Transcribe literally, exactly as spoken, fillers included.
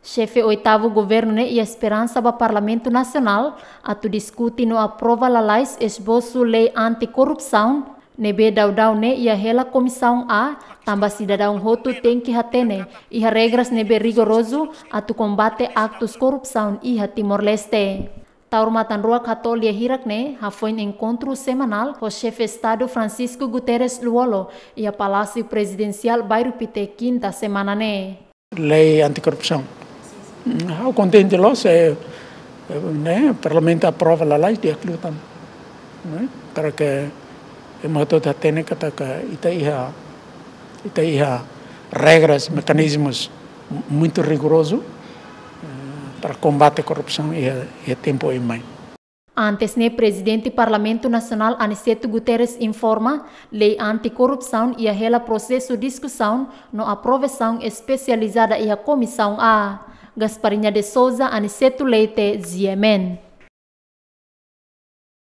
Xefe oitavu governu ne'e iha esperansa ba Parlamentu Nasionál atu diskute no aprova lalais esbosu lei anti-korrupsaun ne'ebé daudaun ne'e iha hela Komisaun A, tanba sidadaun hotu tenke hatene iha regras ne'ebé rigorozu atu kombate aktus korrupsaun iha Timor-Leste. Taur matan-ruak hato'o lia hirak ne'e hafoin enkontru semanál ho Xefe Estadu Francisco Guterres Lú-Olo iha Palásiu Prezidensiál Bairru Pité, kinta semana ne'e. Lei anti-korrupsaun. Mm, ha'u kontente loos, eh, eh, ne'e, Parlamentu aprova lalais di'ak liután. Ne'e, para ke ema hotu hatene katak ita iha, ita iha regras, mekanizmus muitu rigorozu, eh, para kombate korrupsaun iha, iha tempu oin mai. Antes ne'e, Prezidente Parlamentu Nasionál Aniceto Guterres informa, lei anti-korrupsaun iha hela prosesu diskusaun no aprovasaun espesializada iha Komisaun A. Gasparinha de Sousa, Aniceto Leite, G M N.